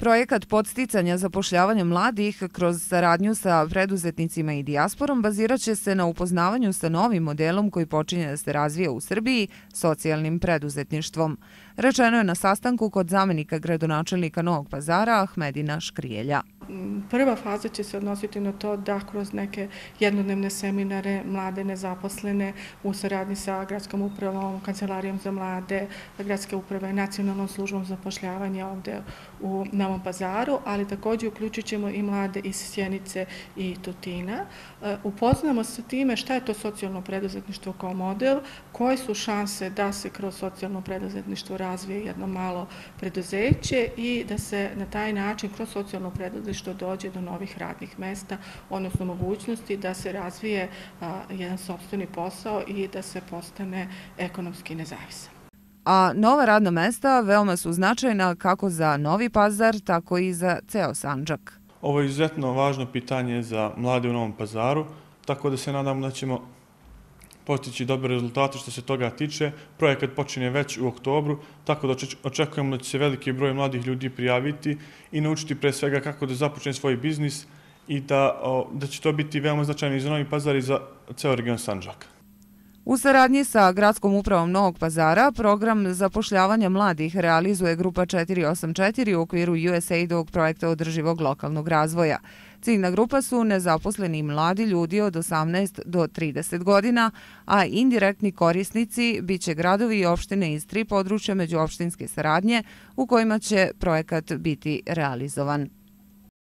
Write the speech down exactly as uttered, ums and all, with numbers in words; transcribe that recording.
Projekat podsticanja zapošljavanja mladih kroz saradnju sa preduzetnicima i dijasporom bazirat će se na upoznavanju sa novim modelom koji počinje da se razvija u Srbiji, socijalnim preduzetništvom. Rečeno je na sastanku kod zamenika gradonačelnika Novog Pazara Ahmedina Škrijelja. Prva faza će se odnositi na to da kroz neke jednodnevne seminare mlade nezaposlene u saradnji sa gradskom upravom, kancelarijom za mlade, gradske uprave, nacionalnom službom zapošljavanja ovde u Novom Pazaru, ali također uključit ćemo i mlade iz Sjenice i Tutina. Upoznamo se time šta je to socijalno preduzetništvo kao model, koje su šanse da se kroz socijalno preduzetništvo razvije jedno malo preduzeće i da se na taj način kroz socijalno preduzetništvo dođe do novih radnih mesta, odnosno mogućnosti da se razvije jedan sopstveni posao i da se postane ekonomski nezavisan. A nova radna mesta veoma su značajna kako za Novi Pazar, tako i za ceo Sandžak. Ovo je izuzetno važno pitanje za mlade u Novom Pazaru, tako da se nadamo da ćemo postići dobre rezultate što se toga tiče. Projekat počinje već u oktobru, tako da očekujemo da će se veliki broj mladih ljudi prijaviti i naučiti pre svega kako da započne svoj biznis i da, da će to biti veoma značajno i za Novi Pazar i za ceo region Sandžaka. U saradnji sa Gradskom upravom Novog Pazara program zapošljavanja mladih realizuje Grupa četiri osam četiri u okviru U S A I D-ovog projekta održivog lokalnog razvoja. Ciljna grupa su nezaposleni mladi ljudi od osamnaest do trideset godina, a indirektni korisnici biće gradovi i opštine iz tri područja međuopštinske saradnje u kojima će projekat biti realizovan.